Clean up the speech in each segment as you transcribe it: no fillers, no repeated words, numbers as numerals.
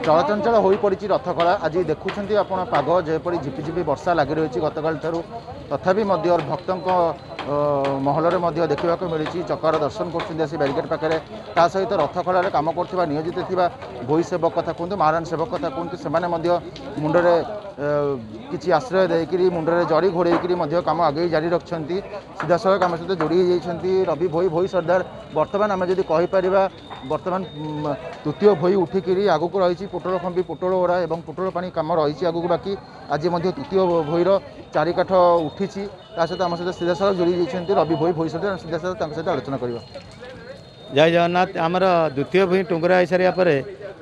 ଚଳଚଞ୍ଚଳ ହୋଇପଡ଼ିଛି ରଥଖଳା। ଆଜି ଦେଖୁଛନ୍ତି ଆପଣ ପାଗ ଯେପରି ଝିପିଝିପି ବର୍ଷା ଲାଗି ରହିଛି ଗତକାଲି ଠାରୁ, ତଥାପି ମଧ୍ୟ ଭକ୍ତଙ୍କ ମହଲରେ ମଧ୍ୟ ଦେଖିବାକୁ ମିଳିଛି ଚକାର ଦର୍ଶନ କରୁଛନ୍ତି ଆସି ବ୍ୟାରିକେଡ଼ ପାଖରେ। ତା ସହିତ ରଥଖଳାରେ କାମ କରୁଥିବା ନିୟୋଜିତ ଥିବା ଭୋଇ ସେବକ କଥା କୁହନ୍ତୁ, ମହାରାଣ ସେବକ କଥା କୁହନ୍ତୁ, ସେମାନେ ମଧ୍ୟ ମୁଣ୍ଡରେ କିଛି ଆଶ୍ରୟ ଦେଇକରି ମୁଣ୍ଡରେ ଜରି ଘୋଡ଼େଇକରି ମଧ୍ୟ କାମ ଆଗେଇ ଜାରି ରଖିଛନ୍ତି। ସିଧାସଳଖ ଆମ ସହିତ ଯୋଡ଼ି ହେଇଯାଇଛନ୍ତି ରବି ଭୋଇ, ଭୋଇ ସର୍ଦ୍ଦାର। ବର୍ତ୍ତମାନ ଆମେ ଯଦି କହିପାରିବା ବର୍ତ୍ତମାନ ତୃତୀୟ ଭୋଇ ଉଠିକିରି ଆଗକୁ ରହିଛି ପୋଟଳ ଖମ୍ବି, ପୋଟଳ ଓରା ଏବଂ ପୋଟଳ ପାଣି କାମ ରହିଛି ଆଗକୁ ବାକି। ଆଜି ମଧ୍ୟ ତୃତୀୟ ଭୋଇର ଚାରିକାଠ ଉଠିଛି। ତା ସହିତ ଆମ ସହିତ ସିଧାସଳଖ ଯୋଡ଼ି ଯାଇଛନ୍ତି ରବି ଭୋଇ, ଭୋଇ ସର୍ଦ୍ଦାର। ସିଧାସଳଖ ତାଙ୍କ ସହିତ ଆଲୋଚନା କରିବା। ଜୟ ଜଗନ୍ନାଥ। ଆମର ଦ୍ୱିତୀୟ ଭୂଇଁ ଟୁଙ୍ଗୁରା ହେଇସାରିବା ପରେ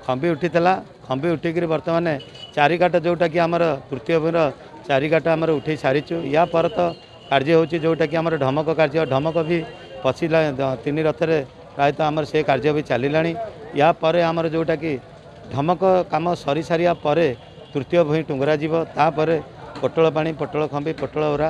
ଖମ୍ବି ଉଠିଥିଲା। ଖମ୍ବି ଉଠିକିରି ବର୍ତ୍ତମାନ ଚାରିକାଠ ଯେଉଁଟାକି ଆମର ତୃତୀୟ ଭୂଇଁର ଚାରିକାଠ ଆମର ଉଠେଇ ସାରିଛୁ। ୟା ପରେ ତ କାର୍ଯ୍ୟ ହେଉଛି ଯେଉଁଟାକି ଆମର ଢମକ କାର୍ଯ୍ୟ। ଢମକ ବି ପଶିଲା ତିନି ରଥରେ, ପ୍ରାୟତଃ ଆମର ସେ କାର୍ଯ୍ୟ ବି ଚାଲିଲାଣି। ୟା ପରେ ଆମର ଯେଉଁଟାକି ଢମକ କାମ ସରିସାରିବା ପରେ ତୃତୀୟ ଭୂଇଁ ଟୁଙ୍ଗୁରା ଯିବ। ତାପରେ ପୋଟଳ ପାଣି, ପୋଟଳ ଖମ୍ବି, ପୋଟଳ ଓରା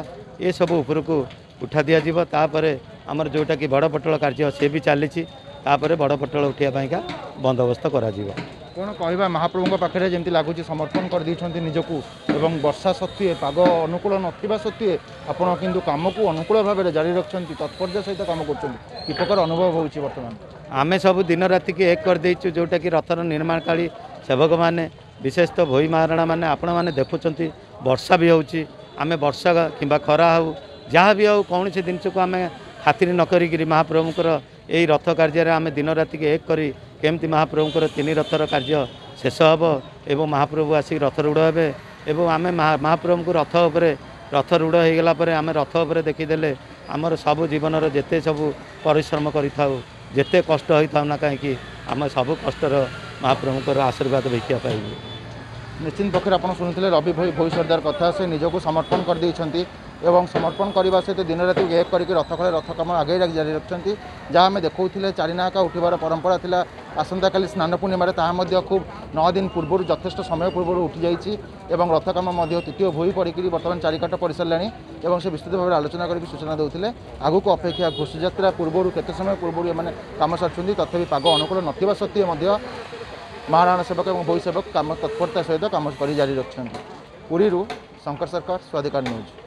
ଏସବୁ ଉପରକୁ ଉଠା ଦିଆଯିବ। ତାପରେ ଆମର ଯେଉଁଟାକି ବଡ଼ ପୋଟଳ କାର୍ଯ୍ୟ ସେ ବି ଚାଲିଛି। ତାପରେ ବଡ଼ ପୋଟଳ ଉଠିବା ପାଇଁକା ବନ୍ଦୋବସ୍ତ କରାଯିବ। କ'ଣ କହିବା, ମହାପ୍ରଭୁଙ୍କ ପାଖରେ ଯେମିତି ଲାଗୁଛି ସମର୍ପଣ କରିଦେଇଛନ୍ତି ନିଜକୁ, ଏବଂ ବର୍ଷା ସତ୍ତ୍ୱେ ପାଗ ଅନୁକୂଳ ନଥିବା ସତ୍ତ୍ୱେ ଆପଣ କିନ୍ତୁ କାମକୁ ଅନୁକୂଳ ଭାବରେ ଜାରି ରଖିଛନ୍ତି, ତତ୍ପରତା ସହିତ କାମ କରୁଛନ୍ତି। କି ପ୍ରକାର ଅନୁଭବ ହେଉଛି ବର୍ତ୍ତମାନ? ଆମେ ସବୁ ଦିନ ରାତିକି ଏକ କରିଦେଇଛୁ। ଯେଉଁଟାକି ରଥର ନିର୍ମାଣକାଳୀ ସେବକମାନେ, ବିଶେଷତଃ ଭୋଇ ମହାରଣା ମାନେ, ଆପଣମାନେ ଦେଖୁଛନ୍ତି ବର୍ଷା ବି ହେଉଛି। ଆମେ ବର୍ଷା କିମ୍ବା ଖରା ହେଉ ଯାହା ବି ହେଉ କୌଣସି ଜିନିଷକୁ ଆମେ ଖାତିରି ନ କରିକିରି ମହାପ୍ରଭୁଙ୍କର ଏଇ ରଥ କାର୍ଯ୍ୟରେ ଆମେ ଦିନ ରାତିକି ଏକ କରି କେମିତି ମହାପ୍ରଭୁଙ୍କର ତିନି ରଥର କାର୍ଯ୍ୟ ଶେଷ ହେବ ଏବଂ ମହାପ୍ରଭୁ ଆସିକି ରଥରୂଢ଼ ହେବେ, ଏବଂ ଆମେ ମହାପ୍ରଭୁଙ୍କୁ ରଥ ଉପରେ ରଥରୂଢ଼ ହେଇଗଲା ପରେ ଆମେ ରଥ ଉପରେ ଦେଖିଦେଲେ ଆମର ସବୁ ଜୀବନର ଯେତେ ସବୁ ପରିଶ୍ରମ କରିଥାଉ, ଯେତେ କଷ୍ଟ ହୋଇଥାଉ ନା କାହିଁକି, ଆମେ ସବୁ କଷ୍ଟର ମହାପ୍ରଭୁଙ୍କର ଆଶୀର୍ବାଦ ଭିକ୍ଷା ପାଇବୁ। ନିଶ୍ଚିନ୍ତ ପକ୍ଷରେ ଆପଣ ଶୁଣିଥିଲେ ରବି ଭୋଇ, ଭୋଇ ସର୍ଦ୍ଦାର କଥା। ସେ ନିଜକୁ ସମର୍ପଣ କରିଦେଇଛନ୍ତି ଏବଂ ସମର୍ପଣ କରିବା ସହିତ ଦିନ ରାତି ଏକ କରିକି ରଥଖଳେ ରଥ କାମ ଆଗେଇ ଜାରି ରଖିଛନ୍ତି। ଯାହା ଆମେ ଦେଖାଉଥିଲେ ଚାରିନାହାକା ଉଠିବାର ପରମ୍ପରା ଥିଲା ଆସନ୍ତାକାଲି ସ୍ନାନ ପୂର୍ଣ୍ଣିମାରେ, ତାହା ମଧ୍ୟ ଖୁବ୍ 9 ଦିନ ପୂର୍ବରୁ ଯଥେଷ୍ଟ ସମୟ ପୂର୍ବରୁ ଉଠିଯାଇଛି ଏବଂ ରଥ କାମ ମଧ୍ୟ ତୃତୀୟ ଭୋଇ ପଡ଼ିକିରି ବର୍ତ୍ତମାନ ଚାରିକାଠ ପଡ଼ିସାରିଲାଣି ଏବଂ ସେ ବିସ୍ତୃତ ଭାବରେ ଆଲୋଚନା କରିକି ସୂଚନା ଦେଉଥିଲେ। ଆଗକୁ ଅପେକ୍ଷା ଘୋଷଯାତ୍ରା ପୂର୍ବରୁ କେତେ ସମୟ ପୂର୍ବରୁ ଏମାନେ କାମ ସାରୁଛନ୍ତି। ତଥାପି ପାଗ ଅନୁକୂଳ ନଥିବା ସତ୍ତ୍ୱେ ମଧ୍ୟ ମହାରାଣା ସେବକ ଏବଂ ଭୋଇ ସେବକ କାମ ତତ୍ପରତା ସହିତ କାମ କରି ଜାରି ରଖିଛନ୍ତି। ପୁରୀରୁ ଶଙ୍କର ସରକାର, ସ୍ୱାଧିକାର ନ୍ୟୁଜ୍।